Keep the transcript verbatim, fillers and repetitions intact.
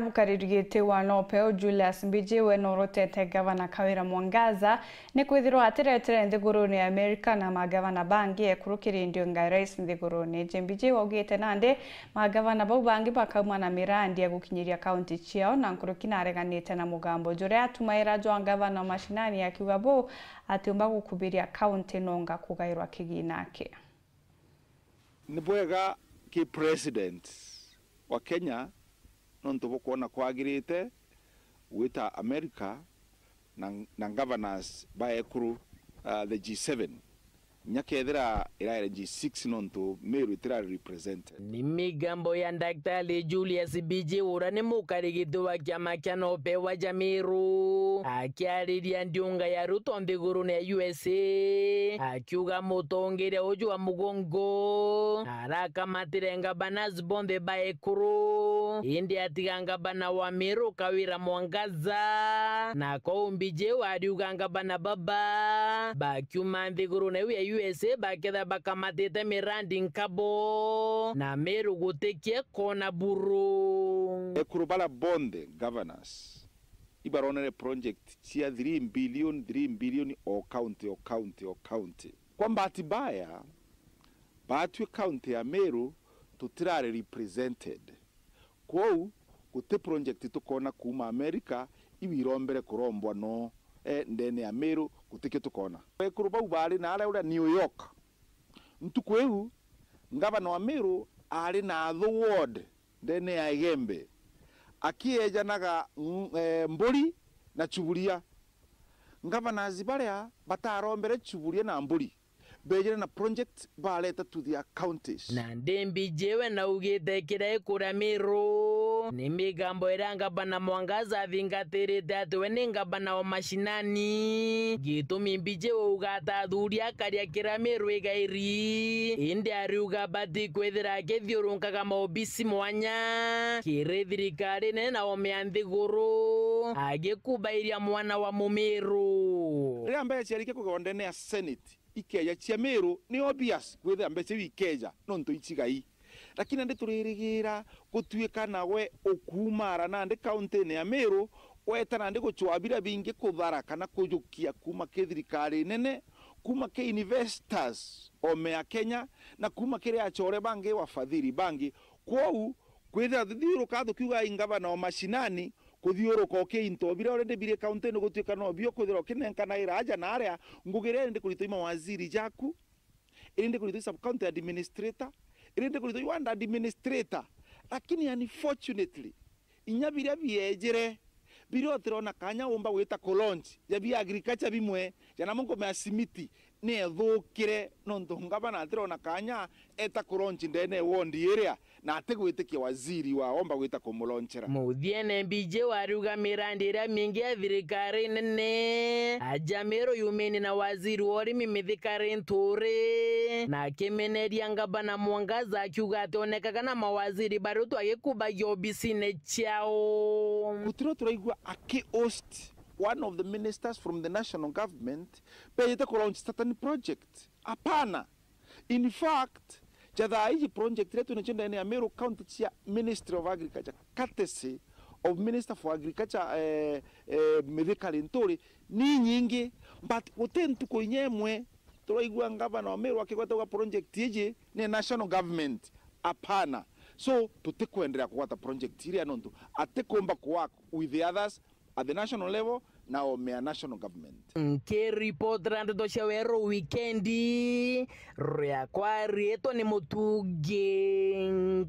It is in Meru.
Mukariri giti wa Nopeu Julius Mbijiwe norotete Gavana Kawira Mwangaza ni kwithirwa atiretere nthigurune ya Amerika na magavana bangi ekuru kiri ndiunga ya rais nthigurune iji. Mbijiwe augite nandi magavana bau bangi bakauma na mirandi ya gukinyiria kaunti ciao na nkuruki nareganite na mugambo juria atumaira jwa ngavana wa mashinani akiuga buu atiumba gukubiria kaunti nonga kugairwa kigina aki. Ni bwega ki president wa Kenya nontu bukwona kwagirite gwita America na, na governors ba ekuru, uh, the G seven. Nya kethira iraere G six nontu Meru itirari represented. Ni migambo ya Daktari Julius Mbijiwe uria ni mukarigiti wa kiama kia Nopewa ja Meru akiariria ndiunga ya Ruto nthigurune ya U S A akiuga mutongeria uju wa mugongo arakamatire ngabanazi bonthe ba ekuru indi atiga ngabana wa Meru Kawira Mwangaza. Na kou Mbijiwe ariuga ngabana baba bakiuma nthigurune iu ya U S A baketha bakamatite mirandi nkabo na Meru gutikie kona buru. Ekuru bara bonthe governors ibaronere project cia three billion, three billion o county, o county, o county. Kwa mbati mbaya, batwi county ya Meru tutirari represented. Kwou guti project tukona kuuma America iu irombere kurombwa no, eh, ndene ya Meru gutikio tukona. Ekuru bau bari na aria uria New York. Ntuku iu, ngavana wa Meru ari na athu ward ndene ya Igembe, akiejanaga ng- eh, mburi na chuburia. Ngavanas baria batarombere chuburia na mburi, bejire na project bareta to their counties. Na ndi Mbijiwe naugite kiria ikuria Meru ni migambo iria ngabana Mwangaza athingatirite ati we ni ngabana wa mashinani. Gitumi Mbijiwe uga ata athuri akaria kiria Meru igairi, indi ariuga bati kwithira akithiurunkaga maobisi mwanya kiri thirikari nene na ome ya nthiguru agikubairia mwana wa Mumiru. Riria mbeca ciarikia kugawa ndene ya Senate, ikeja cia Meru, ni obvious kwithira mbeca iu ikeja nontu icigai. Lakini nandi turirigira gutuika nawe ukuumara nandi kauntine ya Meru, weta nandi gucwaa biria bingi kuthara kana kujukia kuuma ki thirikari nene, kuuma ki investors ome ya Kenya, na kuuma kiri acore bangi, wafadhili bangi. Kwou, kwithira tuthiuruka tukiuga i ngavana o mashinani, kuthiuruka ukiinto biria already biri kauntini gutuika no bio kwithira ukinenkanaira aja na aria, ngugi iria iri ndi kuritwa i mawaziri jaku, iri ndi kuritwa i sub county administrator, iri ndi kuritwa i ward administrator. Lakini unfortunately, inya biria biejire, biria utirona kanya umba gwita ku launch, ja bia agriculture bimwe, ja namo nkume ya simiti, ni ethukire nontu ngavana atirona kanya eta ku launch ndene ya ward iria, na atigwitikia waziri wa omba gwita kumulonchera. Muthiene, Mbijiwe ariuga mirandi iria mingi ya thirikari nene aja Meru yumene na waziri wa urimi Mithika Linturi, na akimeneria ngavana Mwangaza akiuga ati onekaga na mawaziri baria tu agikubagia obisine ciao. Gutiro turaigua aki host one of the ministers from the national government bejite ku launch certain project. Apana. In fact, ja thaa iji project iria twinacio ndene ya Meru County cia Ministry of Agriculture, courtesy of Minister for Agriculture, eh, eh, Mithika Linturi, ni nyingi, but guti ntuku inya imwe turaigua ngavana wa Meru akigweta uga project iji ni national government. Apana. So, tutikwenderea kugwata project iria nontu atikumba ku work with the others at the national level na ome ya national government. Nkiripotera ndeto cia Weru Wikendi, riakwa riitwa ni Mutungi